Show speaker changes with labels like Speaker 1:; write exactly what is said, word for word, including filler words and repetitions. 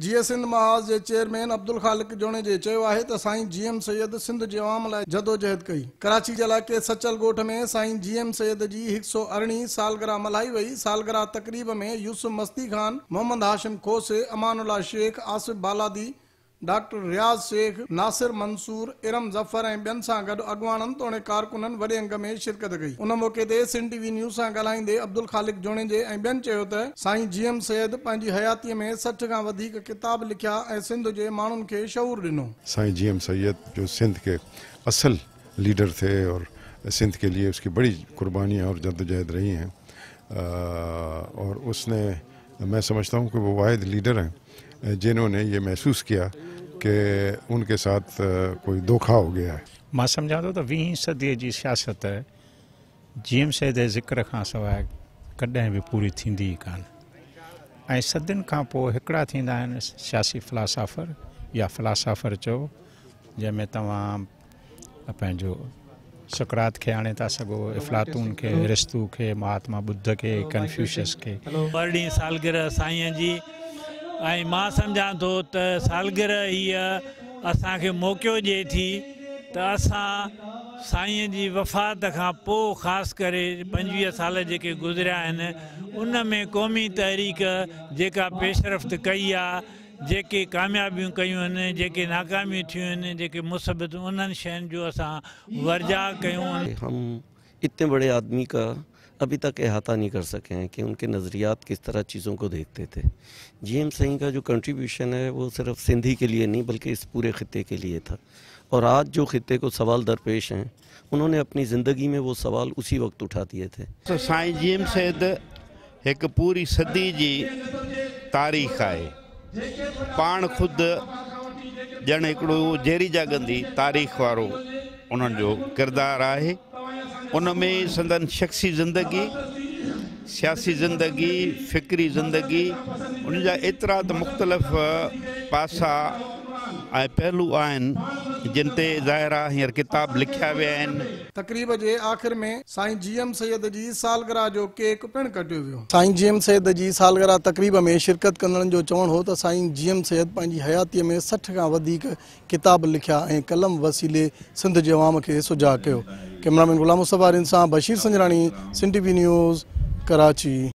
Speaker 1: جيئي سنڌ محاذ جي چيئرمين عبدل خالق جوڻيجي چيو آهي ته سائين جي ايم سيد سنڌ جي عوام لاءِ جدوجهد ڪئي. ڪراچي جي علائقي سچل ڳوٺ ۾ سائين جي ايم سيد جي هڪ سؤ ارڙهين سالگرهه ملهائي وئي. سالگرهه تقريب ۾ يوسف مستي خان، محمد هاشم کوسي، امان الله شيخ، آصف بالادي، ڊاڪٽر رياض شيخ، ناصر منصور، ارم ظفر ۽ ٻين سان گڏ اڳواڻن توڙي ڪارڪنن وڏي انگ ۾ شرڪت ڪئي. ان موقعي تي سنڌ ٽي وي نيوز سان ڳالهائيندي عبدل خالق جوڻيجي ۽ ٻين چيو ته سائين جي ايم سيد پنهنجي حياتيء ۾ سٺ کان وڌيڪ ڪتاب لکيا ۽ سنڌ جي ماڻهن کي شعور ڏنو.
Speaker 2: سائين جي ايم سيد جو سنڌ के असल लीडर थे और सिंध के लिए उसकी बड़ी कुर्बानियाँ और जद्दोजहद रही हैं और उसने, मैं समझता हूँ कि वो वाहिद लीडर हैं जिन्होंने ये महसूस किया कि उनके साथ कोई धोखा हो गया है।
Speaker 3: मां सम्झां थो त वीहीं सदीअ जी सियासत जी एम सैद जे ज़िक्र खां सवाइ कॾहिं बि पूरी थींदी ई कान। ऐं सदियुनि खां पोइ हिकिड़ा थींदा आहिनि सियासी फिलासाफ़र या फिलासाफ़र चओ, जंहिंमें तव्हां पंहिंजो सुकरात खे आणे था सघो, इफ़लातून खे, अरिस्तू खे, महात्मा बुद्ध खे, कन्फ्यूशियस खे।
Speaker 4: अरिड़हीं सालगिरह साईं जी ऐं मां सम्झां थो त सालगिरह हीअ असांखे मौक़ो ॾिए थी त असां साईं जी वफ़ात खां पोइ ख़ासि करे पंजवीह साल जेके गुज़रिया आहिनि उन में क़ौमी तहरीक जेका पेशरफ़्त कई आहे, जेके कामयाबियूं कयूं आहिनि, जेके नाकामियूं थियूं आहिनि, जेके मुसीबतूं, उन्हनि शयुनि जो असां वर्जाव कयूं।
Speaker 5: हम इतने बड़े आदमी का अभी तक अहाता नहीं कर सके हैं कि उनके नज़रियात किस तरह चीज़ों को देखते थे। जी एम साईं का जो कंट्रीब्यूशन है वो सिर्फ सिंधी के लिए नहीं बल्कि इस पूरे ख़ित्ते के लिए था और आज जो ख़ित्ते को सवाल दरपेश हैं उन्होंने अपनी ज़िंदगी में वो सवाल उसी वक्त उठा दिए थे।
Speaker 6: तो साईं जी एम सैद एक पूरी सदी जी तारीख़ आहे। पाण ख़ुदि ॼण हिकिड़ो जेरी जागंदी तारीख़ वारो उन्हनि जो किरदारु आहे। उन में संदन शख्सी ज़िंदगी, सियासी ज़िंदगी, फ़िक्री ज़िंदगी, उन जा एतिरा त मुख़्तलिफ़ पासा ऐं पहलू आहिनि जिन ते ज़ाहिर आहे हींअर किताब लिखिया विया आहिनि।
Speaker 1: तक़रीब जे आख़िर में साईं जी एम सैद जी सालगिरह जो केक पिणु कटियो वियो। साईं जी एम सैद जी सालगिरह तक़रीब में शिरकत कंदड़नि जो चवणु हो त साईं जी एम सैद पंहिंजी हयातीअ में सठि खां वधीक किताब लिखिया ऐं कलम वसीले सिंध जे अवाम खे सुझाव कयो। कैमरामैन गुलाम मुस्तफ़ा सां Bashir Sanjrani, Sindh T V news, Karachi.